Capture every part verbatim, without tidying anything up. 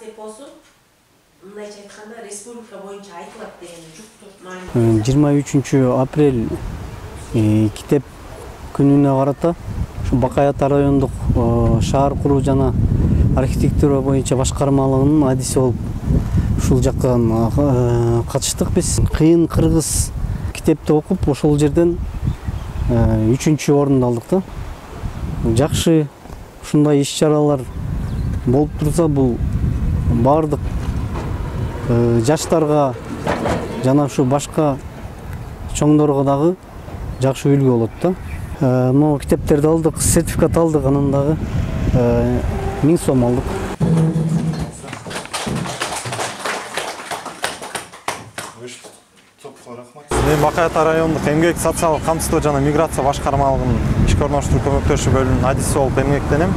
эпосу мындайча айтканда республика боюнча айтылат деген жуктур. жыйырма үчүнчү апрель китеп күнүнө карата ушу Бакай Ата райондук шаар куруу жана архитектура боюнча башкармалыгынын адиси болуп ушул жакка катыштык биз. Кыйын кыргыз китепти окуп ошол жерден үчүнчү орунду алдык да. Жакшы ушундай иш-чаралар болуп турса, бул баардык жаштарга жана ушу башка чоңдорго дагы жакшы үлгү болот да. Могу китептерди алдык, сертификат алдык, анан дагы миң сом алдык. Мен Бакай Ата райондук эмгек социалдык камсыздоо жана миграция башкармалыгынын ишке орноштуруу көмөктөшүү бөлүмүнүн адиси болуп эмгектенем.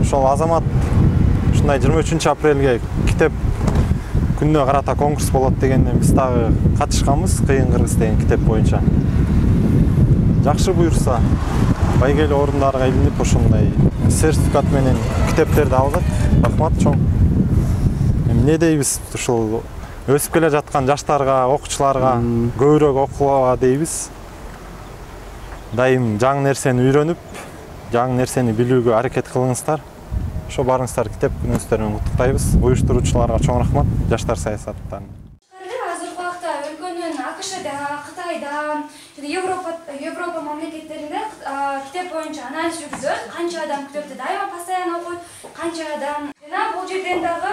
Ошол азамат ушундай жыйырма үчүнчү апрелге китеп күнүнө карата конкурс болот дегенден биз дагы катышканбыз. Кыйын кыргыз деген китеп боюнча. Жакшы буюрса, байгеле орундарга илинип ошондой сертификат менен китептерди алгат. Рахмат чоң. Эмне дейбиз, ушул өсүп келе жаткан жаштарга, окуучуларга көбүрөөк окууга дейбиз. Дайым жаңы нерсени үйрөнүп, жаңы нерсени билүүгө аракет кылыңыздар. Ошо барыңыздар китеп күнүңүздөр менен куттуктайбыз. Уюштуруучуларга чоң рахмат, жаштар саясаттан. Азыркы убакта өлкөнүн АКШда, Кытайда, Европа Европа мамлекеттеринде китеп боюнча анализ жүргүзөт. Канча адам китепти дайыма постоянно окуйт, канча адам. Жана бул жерден дагы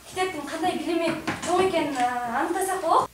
китептин кандай билими чоң экенин аныктасак болот.